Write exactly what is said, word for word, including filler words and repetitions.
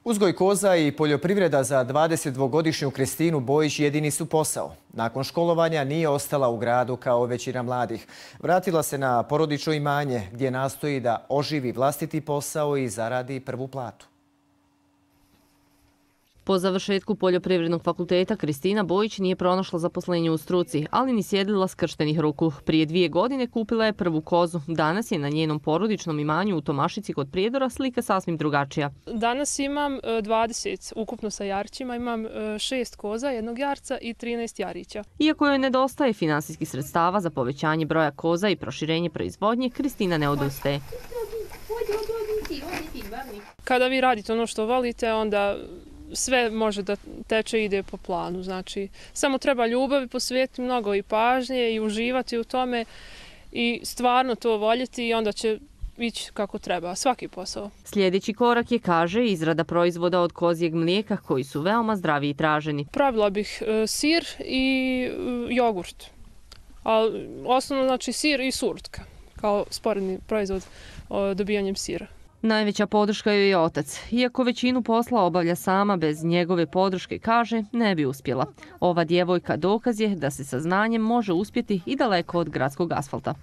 Uzgoj koza i poljoprivreda za dvadesetdvogodišnju Kristinu Bojić jedini su posao. Nakon školovanja nije ostala u gradu kao većina mladih. Vratila se na porodično imanje gdje nastoji da oživi vlastiti posao i zaradi prvu platu. Po završetku poljoprivrednog fakulteta Kristina Bojić nije pronašla zaposlenje u struci, ali ni sjedila skrštenih ruku. Prije dvije godine kupila je prvu kozu. Danas je na njenom porodičnom imanju u Tomašici kod Prijedora slika sasvim drugačija. Danas imam dvadeset, ukupno sa jarčima, imam šest koza, jednog jarca i trinaest jarića. Iako joj nedostaje finansijskih sredstava za povećanje broja koza i proširenje proizvodnje, Kristina ne odustaje. Kada vi radite ono što volite, onda sve može da teče i ide po planu. Znači, samo treba ljubavi posvetiti mnogo i pažnje i uživati u tome i stvarno to voljeti i onda će ići kako treba, svaki posao. Sljedeći korak je, kaže, izrada proizvoda od kozjeg mlijeka koji su veoma zdravi i traženi. Pravila bih e, sir i e, jogurt. A osnovno znači sir i surtka kao sporedni proizvod o, dobijanjem sira. Najveća podrška joj je otac. Iako većinu posla obavlja sama, bez njegove podrške, kaže, ne bi uspjela. Ova djevojka dokaz je da se sa znanjem može uspjeti i daleko od gradskog asfalta.